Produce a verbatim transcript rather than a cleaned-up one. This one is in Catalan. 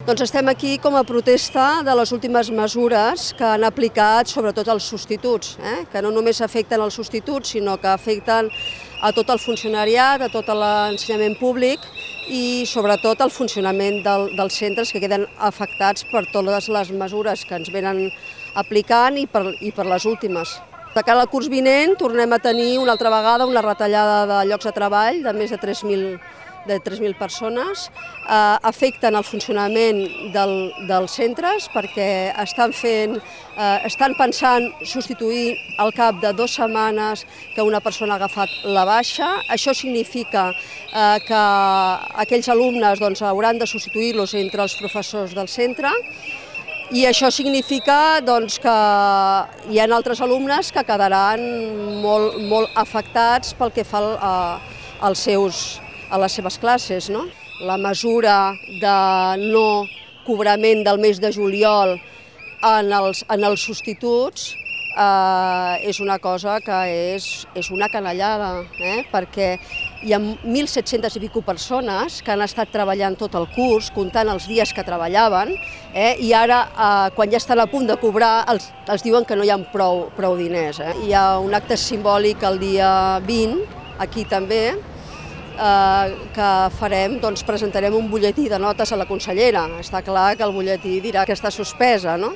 Doncs estem aquí com a protesta de les últimes mesures que han aplicat sobretot els substituts, eh? que no només afecten els substituts, sinó que afecten a tot el funcionariat, a tot l'ensenyament públic i sobretot el funcionament del, dels centres que queden afectats per totes les mesures que ens venen aplicant i per, i per les últimes. De cara al curs vinent tornem a tenir una altra vegada una retallada de llocs de treball de més de tres mil de tres mil persones, eh, afecten el funcionament del, dels centres perquè estan, fent, eh, estan pensant substituir al cap de dues setmanes que una persona ha agafat la baixa. Això significa eh, que aquells alumnes doncs, hauran de substituir-los entre els professors del centre i això significa doncs, que hi ha altres alumnes que quedaran molt, molt afectats pel que fa a, als seus a les seves classes. No? La mesura de no cobrament del mes de juliol en els, en els substituts eh, és una cosa que és, és una canallada, eh? perquè hi ha mil set-centes i pico persones que han estat treballant tot el curs, comptant els dies que treballaven, eh? i ara, eh, quan ja estan a punt de cobrar, els, els diuen que no hi ha prou, prou diners. Eh? Hi ha un acte simbòlic el dia vint, aquí també, que farem, doncs presentarem un butlletí de notes a la consellera. Està clar que el butlletí dirà que està suspesa, no?